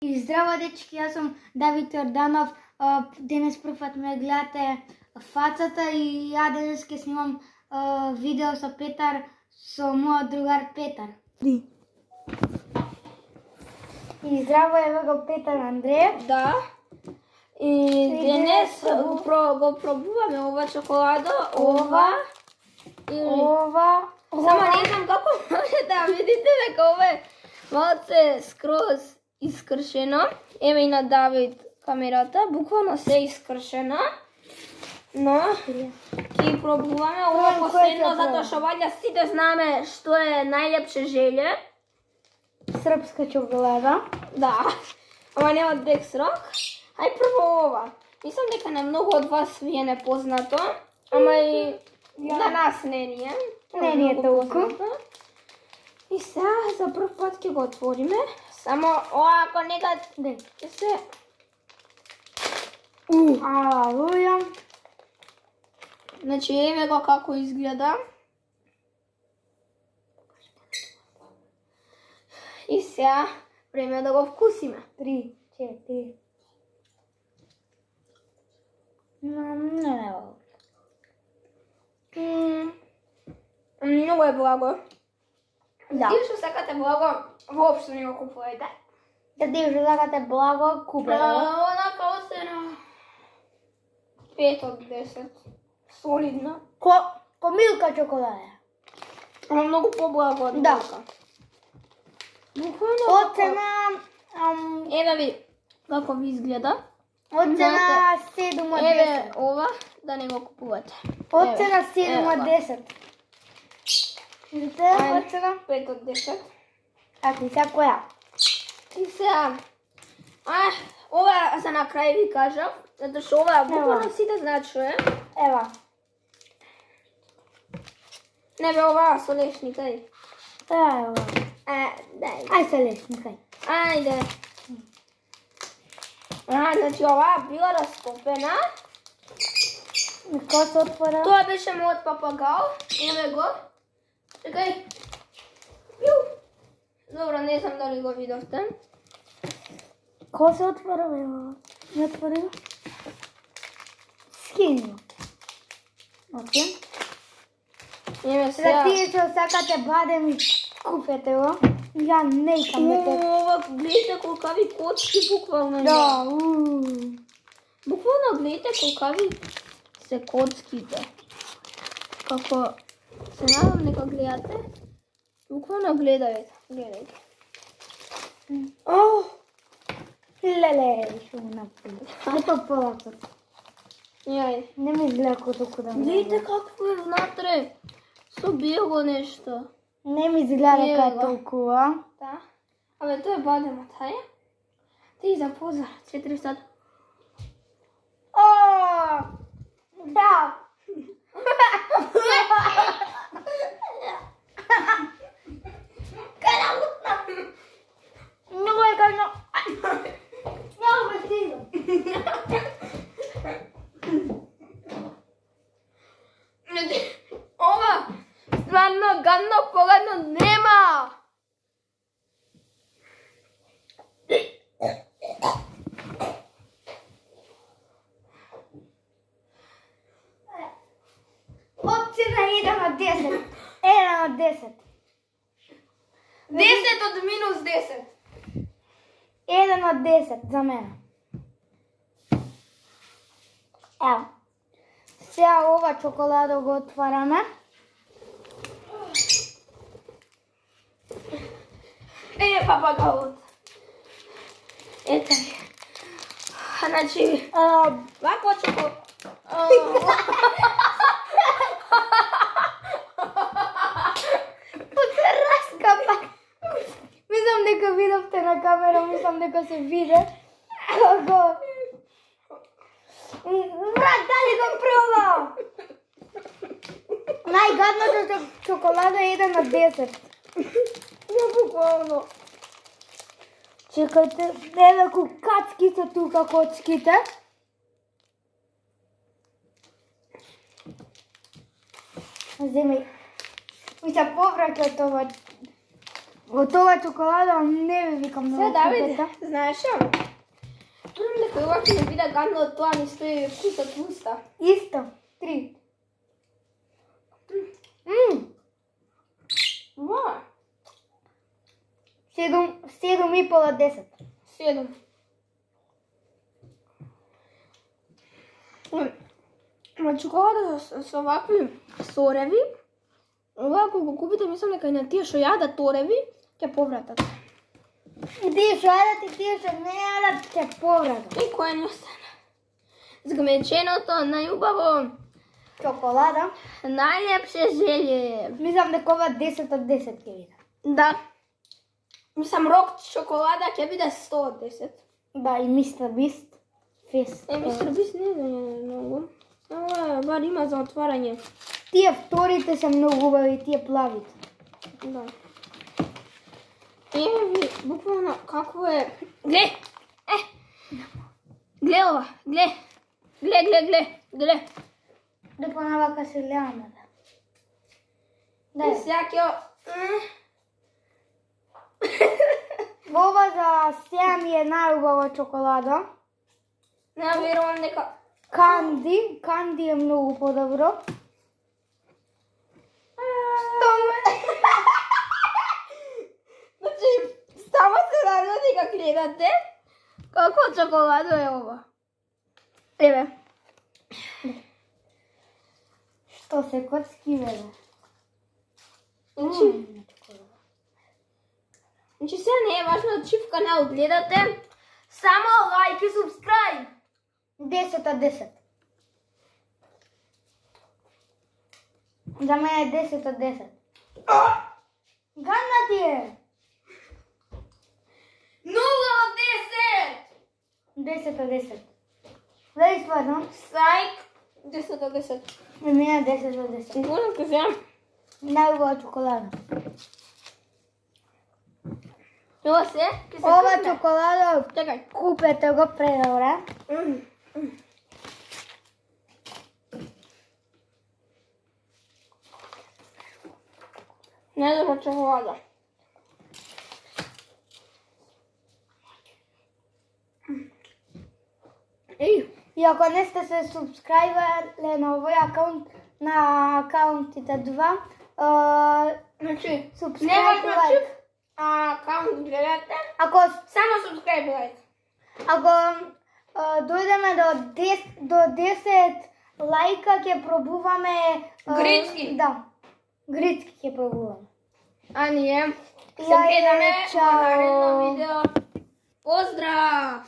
И здраво, дечки, јас сум Давид Јорданов. Денес прв пат ме гледате фацата и ја денес ќе снимам видео со Петар, со мојот другар Петар. И здраво, еве го Петар Андреев. Да. И денес го пробуваме ова чоколадо, ова и ова. Само не знам како може да видите дека ова е малце скроз искршено. Еве и на Давид камерата, буквално се искршено. Но ќе пробуваме ова последно затоа што ваljda сите знаеме што е најлепше желе. Српска чоколада. Да. Ама нема дексрок. Ај прво ова. Мислам дека на многу од вас ви е непознато, ама и за нас не ни е. Не ни е толку. И сега за прв пат ќе го отвориме. Само оако некад ќе се Алелуја. Значи еве го како изгледа. И сега време да го вкусиме. 3, 4. Многу е благо. Да. Ти што сакате благо, воопшто не го купувајте. Да ти што сакате благо, купете го. Онака остана 5 од 10. Солидно. Ко милка чоколада. Ама многу поблаго од Да. милка. Буквално Оцена еве ви како ви изгледа. Оцена 7 од 10. Еве ова да не го купувате. Оцена 7 од 10. Видите, оцена 5 од 10. А ти сега која? И сега ова за на крај ви кажав, затоа што ова буквално сите знаат што е. Ева. Не бе ова со лешник, ај. Ева. Дај. Ај се лешник, ај. Ајде. Значи ова била растопена. Ко се отвора? Тоа беше мојот папагал. Еве го. Чекај. Добро, не знам дали го видовте. Ко се отвора, ева? Не отвори го? Скини го. Окей. Еве За сега. тие што сакате бадем и купете го. Ја не икам дека. Ова, гледате колкави коцки буквално. Да, Буквално гледате колкави се коцките. Како се надам дека гледате. Буквално гледајте. Леле, што го направи. Ето полако. Јај. Не ми изгледа толку да Гледате какво е внатре. Со бело нешто. Не ми изгледа дека е Ева. толкува. Да. Абе, тоа е бадемот, ај? Ти запоза, 4 сата. О! Да. Многу е гадно. Много ме стига. Ова, стварно гадно погадно нема. Оцена 1 од 10. 1 од 10. 10 од минус 10. 1 од 10 за мене. Ево. Сега ова чоколадо го отвараме. Папагалот. Ете ви. Значи, вако чоко... Се раскапа. Мислам дека видовте на камера, мислам дека се виде. Како... Брат, дали го пробам? Најгадното чоколада е 1 од 10. Не буквално. Чекајте, еве кацки се тука коцките. Земи, ми се повраќа това Од ова чоколада не ви викам Се, много Давид, вкусна. знаеш што? Турам дека ова ќе не биде гадно од тоа ми стои вкусот в уста. Исто. 3. Ва, 7,5 од 10. 7. Ма чоколада со вакви сореви, ова ако го купите, мислам дека и на тие што јадат тореви, ќе повратат. И тие што јадат и тие што не јадат ќе повратат. И кој не остана? Згмеченото, најубаво, Чоколада. најлепше желје. Мислам дека ова 10 од 10 ќе биде. Да. Мислам, рок чоколада ќе биде 100 од 10. Да, и Мистер Бист. Фест. Мистер Бист не е многу. Ова бар има за отварање. Тие вторите се многу убави, тие плавите. Да. Ви, буквално какво е... Гле! Гле ова, гле! Гле! Дека на вака се леаме, да. И сега ќе... Ова за сега ми е најубава чоколада. Не верувам дека... Канди е многу подобро. Значи, само се надевам дека гледате како чоколадо е ова. Еве. Што се коцки бе? Значи сега не е важно да чифка не одгледате. Само лайк и субскрайб. 10 од 10. За мене е 10 од 10. Гадна ти е! 0 од 10! 10 од 10. Дали стварно? Лайк 10 од 10. За мене е 10 од 10. Голем ке вземам. Најубава чоколада. Ова се? Ова чоколада, Чекај. купете го предобре. Најдобра чоколада. Еј, И ако не сте се субскрајбале на овој акаунт, на акаунтите 2, значи, не субскрајб важно лайк. чиф, акаунт гледате, Ако само субскрайб лайк. дојдеме до 10 лајка ќе пробуваме Грицки. Да. Грицки ќе пробуваме. А ние се Ја е, гледаме во чао. наредно видео. Поздрав!